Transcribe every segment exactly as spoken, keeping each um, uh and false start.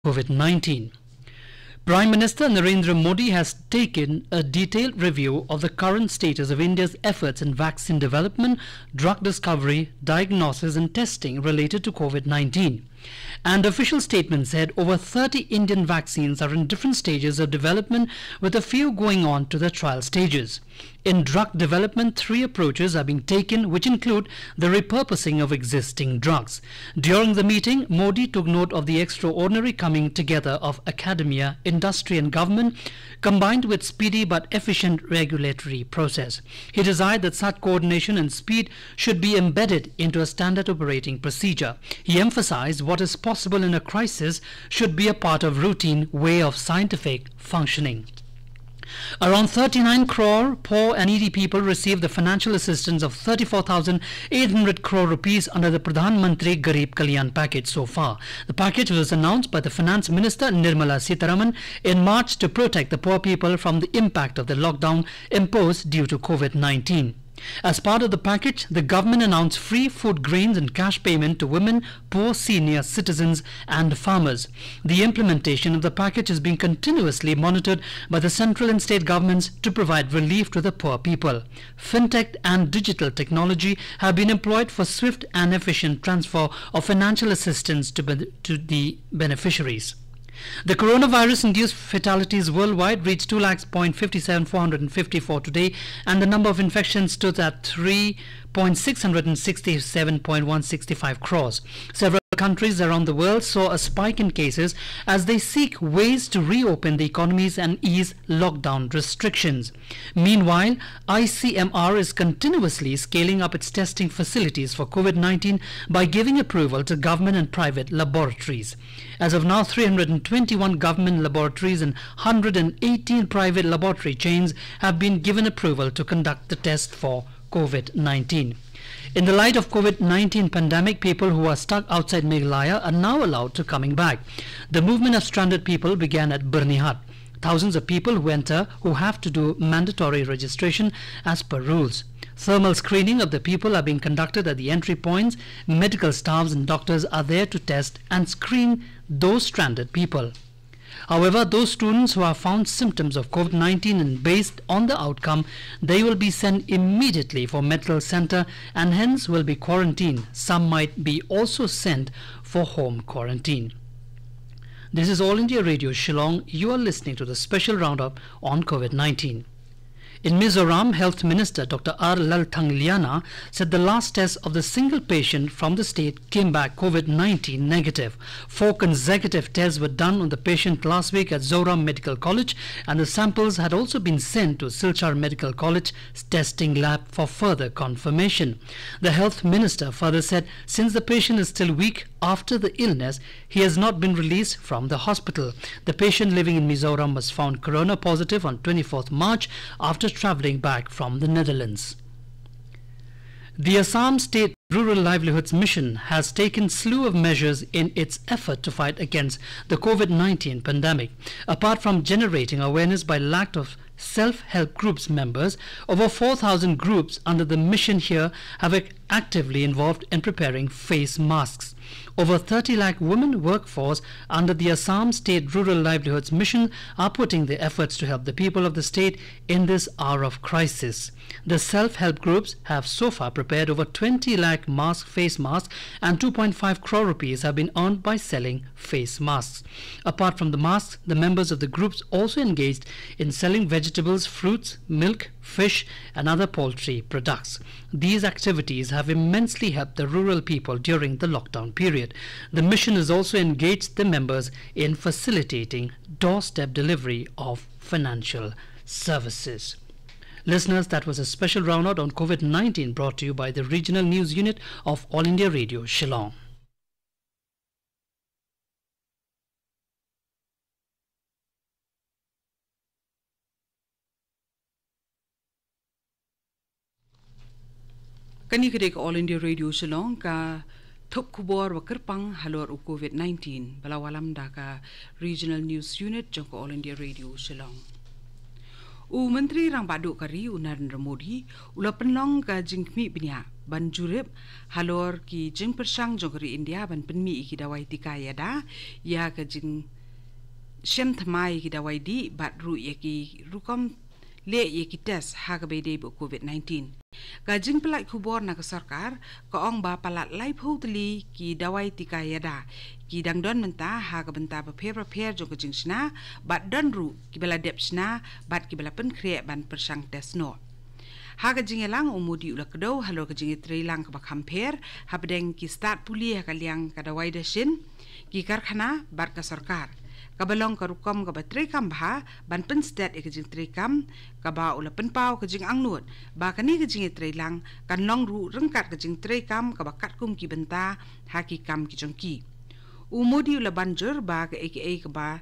COVID nineteen. Prime Minister Narendra Modi has taken a detailed review of the current status of India's efforts in vaccine development, drug discovery, diagnosis, and testing related to COVID nineteen. An official statement said over thirty Indian vaccines are in different stages of development, with a few going on to the trial stages. In drug development, three approaches are being taken, which include the repurposing of existing drugs. During the meeting, Modi took note of the extraordinary coming together of academia, industry, and government, combined with speedy but efficient regulatory process. He desired that such coordination and speed should be embedded into a standard operating procedure. He emphasized what is possible in a crisis should be a part of routine way of scientific functioning. Around thirty-nine crore poor and needy people received the financial assistance of thirty-four thousand eight hundred crore rupees under the Pradhan Mantri Garib Kalyan Package so far. The package was announced by the Finance Minister Nirmala Sitharaman in March to protect the poor people from the impact of the lockdown imposed due to COVID nineteen. As part of the package, the government announced free food grains and cash payment to women, poor senior citizens, and farmers. The implementation of the package is being continuously monitored by the central and state governments to provide relief to the poor people. Fintech and digital technology have been employed for swift and efficient transfer of financial assistance to, ben- to the beneficiaries. The coronavirus-induced fatalities worldwide reached two lakhs point fifty-seven four hundred and fifty-four today, and the number of infections stood at three point six hundred and sixty-seven point one sixty-five crores. Several countries around the world saw a spike in cases as they seek ways to reopen the economies and ease lockdown restrictions. Meanwhile, I C M R is continuously scaling up its testing facilities for COVID nineteen by giving approval to government and private laboratories. As of now, three hundred and twenty-one government laboratories and hundred and eighteen private laboratory chains have been given approval to conduct the test for COVID nineteen. In the light of COVID nineteen pandemic, people who are stuck outside Meghalaya are now allowed to coming back. The movement of stranded people began at Byrnihat. Thousands of people who enter who have to do mandatory registration as per rules. Thermal screening of the people are being conducted at the entry points. Medical staffs and doctors are there to test and screen those stranded people. However, those students who have found symptoms of COVID nineteen, and based on the outcome, they will be sent immediately for medical center and hence will be quarantined. Some might be also sent for home quarantine. This is All India Radio Shillong. You are listening to the special roundup on COVID nineteen. In Mizoram, Health Minister Doctor R Lalthangliana said the last test of the single patient from the state came back COVID nineteen negative. Four consecutive tests were done on the patient last week at Zoram Medical College, and the samples had also been sent to Silchar Medical College testing lab for further confirmation. The health minister further said since the patient is still weak after the illness, he has not been released from the hospital. The patient living in Mizoram was found corona positive on twenty-fourth March after travelling back from the Netherlands. The Assam State Rural Livelihoods Mission has taken slew of measures in its effort to fight against the COVID nineteen pandemic. Apart from generating awareness by lakh of self-help groups members, over four thousand groups under the mission here have ac- actively involved in preparing face masks. Over thirty lakh women workforce under the Assam State Rural Livelihoods Mission are putting their efforts to help the people of the state in this hour of crisis. The self-help groups have so far prepared over twenty lakh mask, face masks, and two point five crore rupees have been earned by selling face masks. Apart from the masks, the members of the groups also engaged in selling vegetables, fruits, milk, fish, and other poultry products. These activities have immensely helped the rural people during the lockdown period. The mission has also engaged the members in facilitating doorstep delivery of financial services. Listeners, that was a special roundout on COVID nineteen, brought to you by the Regional News Unit of All India Radio Shillong. Kane ka dei ka All India Radio Shillong, ka thup khubor ba kyrpang halor u COVID nineteen, ba la wallam da ka Regional News Unit jong ka All India Radio Shillong. U Myntri Rangbah Duh ka ri, u Narendra Modi, u la pynlong ka jingkhmih bniah ban jurip halor ki jingpyrshang jong ka ri India ban pynmih ïa ki dawai tika ïada, ïa ka jingshem thymmai ïa ki dawai dih bad ruh ïa ki rukom leh ïa ki test ha kaba ïadei bad COVID nineteen. Ka jingpynlait khubor na ka sorkar ka ong ba palat laiphew tylli ki dawai tika ïada ki dang don mynta ha ka bynta bapher bapher jong ka jingshna, bad don ruh kiba la dep shna bad kiba la pynkhreh ban pyrshang test noh. Ha ka jingïalang, u Modi u la kdew halor ka jingïatreilang kaba kham pher hapdeng ki stad pule ha ka liang ka dawai dashin, ki karkhana bad ka sorkar, kaba long ka rukom kaba treikam bha ban pynstet ïa ka jingtreikam, kaba u la pynpaw ka jingangnud ba kane ka jingïatreilang kan long ruh ryngkat ka jingtreikam kaba katkum ki bynta ha ki kam ki jong ki. U Modi u la ban jur ba kaei kaei kaba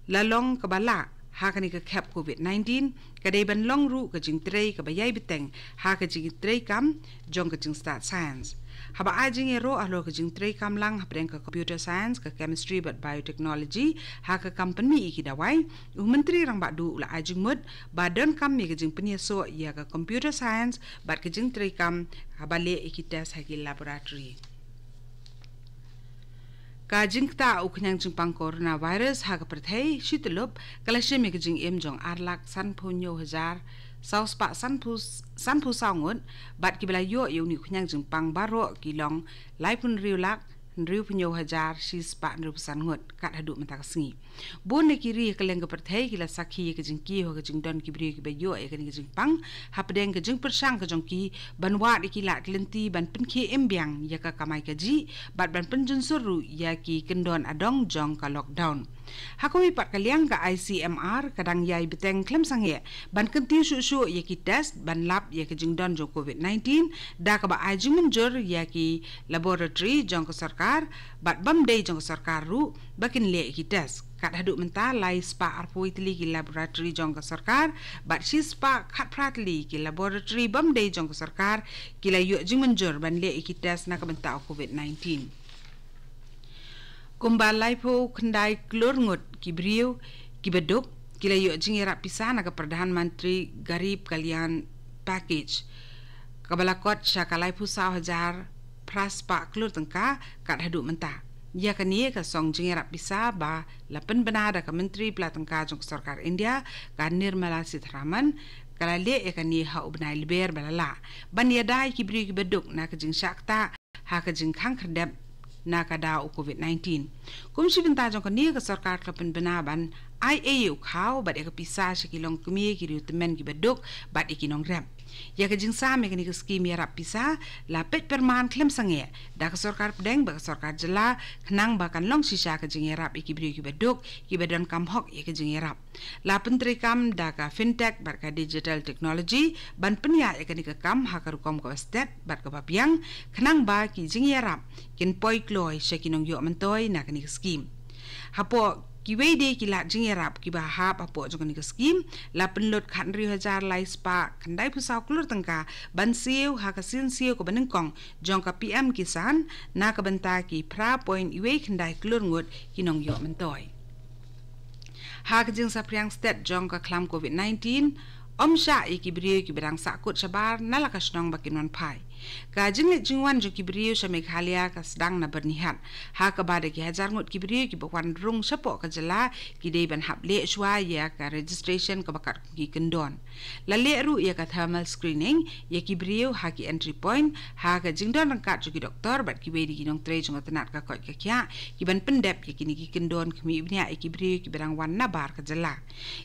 la long kaba lah ha kane ka khep COVID nineteen ka dei ban long ruh ka jingtrei kaba ïai bteng ha ka jingtreikam jong ka jingstad science. Haba ai jingïaroh halor ka jingtreikam lang hapdeng ka computer science, ka chemistry bad biotechnology ha ka kam pynmih ïa ki dawai, u Myntri Rangbah Duh u la ai jingmut ba donkam ïa ka jingpynïasoh ïa ka computer science bad ka jingtreikam haba leh ïa ki test ha ki laboratory. Ka jingktah u khñiang jingpang coronavirus ha ka pyrthei shi tyllup ka la shim ïa ka jingim jong ar lak sanphew hynñiew hajar saw spah sanphew, sanphew saw ngut, bad kiba la ïoh ïa une u khñiang jingpang baroh ki long laiphew hynriew lak hynriewphew hynñiew hajar shi spah hynriewphew san ngut kat haduh mynta ka sngi. Bun na ki ri ha kylleng ka pyrthei ki la sakhi ïa ka jingkiew ha ka jingdon ki briew kiba ïoh ïa kane ka jingpang hapdeng ka jingpyrshang ka jong ki ban wad ïa ki lad ki lynti ban pynkhie im biang ïa ka kamai kajih bad ban pynjunsur ruh ïa ki kyndon adong jong ka lockdown. Ha kawei pat ka liang, ka I C M R ka dang ïai bteng khlem sangeh ban kyntiew shuh shuh ïa ki test ban lap ïa ka jingdon jong COVID nineteen da kaba ai jingmynjur ïa ki laboratory jong ka sorkar bad bym dei jong ka sorkar ruh ba kin leh ïa ki test. Kat haduh mynta lai spah arphew tylli ki laboratory jong ka sorkar bad shi spah khatphra tylli ki laboratory bym dei jong ka sorkar ki la ïoh jingmynjur ban leh ïa ki test na ka bynta u COVID nineteen. Kumba laiphew khyndai klur ngut ki briew kiba duk ki la ïoh jingïarap pisa na ka Pradhan Mantri Garib Kalyan Package, kaba la kot sha ka laiphew saw hajar phra spah klur tyngka kat haduh mynta. Ïa kane ka song jingïarap pisa ba la pynbna da ka Myntri Pla Tyngka jong ka Sorkar India, ka Nirmala Sitharaman, ka la leh ïa kane ha u bnai Lber ba la lah, ban ïada ïa ki briew kiba duk na ka jingshah ktah ha ka jingkhang khyrdep na ka daw u COVID nineteen. Kum shi bynta jong kane, ka sorkar ka la pynbna ban ai ei ïa u khaw bad ïa ka pisa sha ki longkmie, ki riewtymmen kiba duk bad ïa ki nongrep. Ïa ka jingsam ïa kane ka skim ïarap pisa la peit pyrman khlem sangeh da ka sorkar pdeng bad ka sorkar jylla, khnang ba kan long shisha ka jingïarap ïa ki briew kiba duk kiba donkam hok ïa ka jingïarap. La pyntreikam da ka fintech bad ka digital technology ban pynïaid ïa kane ka kam ha ka rukom kaba stet bad kaba biang, khnang ba ki jingïarap kin poi kloi sha ki nongïoh myntoi na kane ka skim. Hapoh kiwei de ki lad jingïarap kiba hap hapoh jong kane ka skim, la pynlut khathynriew hajar lai spah khyndaiphew saw klur tyngka ban siew ha ka sien siew kaba nyngkong jong ka P M Kisan na ka bynta ki phra point wei khyndai klur ngut ki nongïoh myntoi. Ha ka jingsaphriang stet jong ka khlam COVID nineteen, ym shah ïa ki briew kiba dang sahkut shabar na la ka shnong ba kin wan phai. Ka jingleit jingwan jong ki briew sha Meghalaya ka sdang na Byrnihat, ha kaba da ki hajar ngut ki briew kiba wan rung shapoh ka jylla ki dei ban hap leh shuwa ïa ka registration kaba kat kum ki kyndon. La leh ruh ïa ka thermal screening ïa ki briew ha ki entry point, ha ka jingdon ryngkat jong ki doktor bad kiwei de ki nongtrei jong ka tnat ka koit ka khiah, kiban pyndep ïa kine ki kyndon khmih bniah ïa ki briew kiba dang wan nabar ka jylla.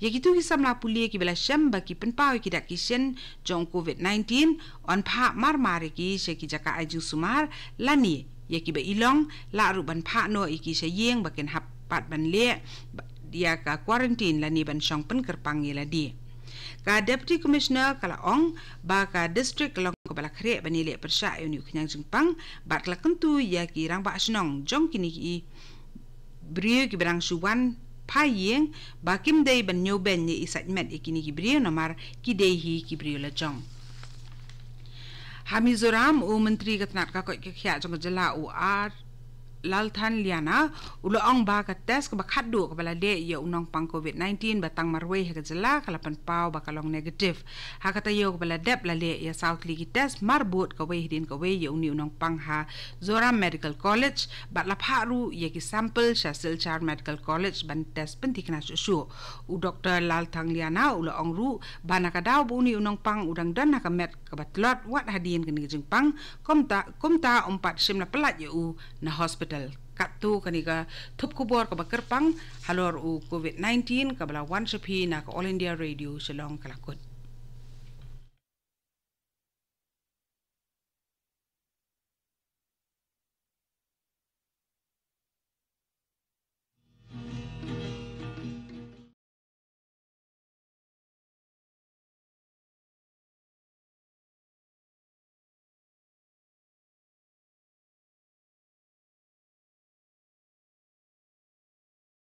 Ïa kito ki samla pule kiba la shem ba ki pynpaw ïa ki dak ki shin jong COVID nineteen, yn phah mar mar ïa ki sha ki jaka ai jingsumar, lane ïa kiba i long, lah ruh ban phah noh ïa ki sha ïing ba kin hap pat ban leh ïa ka quarantine lane ban shong pynkyrpang ïa lade. Ka Deputy Commissioner ka la ong ba ka district ka long kaba la khreh ban ïaleh pyrshah ïa une u khñiang jingpang, bad ka la kyntu ïa ki rangbah shnong jong kine ki briew kiba dang shu wan phai ïing ba kim dei ban ñiew beiñ ne i sait met ïa kine ki briew namar ki dei hi ki briew lajong. Ha Mizoram, u Myntri ka tnat ka koit ka khiah jong ka jylla, u R Lalthanliana u la ong ba ka test kaba khatduh kaba la leh ïa u nongpang covid nineteen ba tang marwei ha ka jylla ka la pynpaw ba ka long negative. Ha ka taïew kaba la dep la leh ïa saw tylli ki test marbud kawei hadien kawei ïa une u nongpang ha Zoram Medical College bad la phah ruh ïa ki sample sha Silchar Medical College ban test pynthikna shuh shuh. U Doktor Lalthanliana u la ong ruh ba na ka daw ba une u nongpang u dang don ha ka met kaba tlot wat hadien kane ka jingpang, kumta, kumta um pat shym la pyllait ïa u na hospital. Katto kane ka thup khubor kaba kyrpang halor u covid nineteen kaba la wan sha phi na ka All India Radio Shillong ka la kut.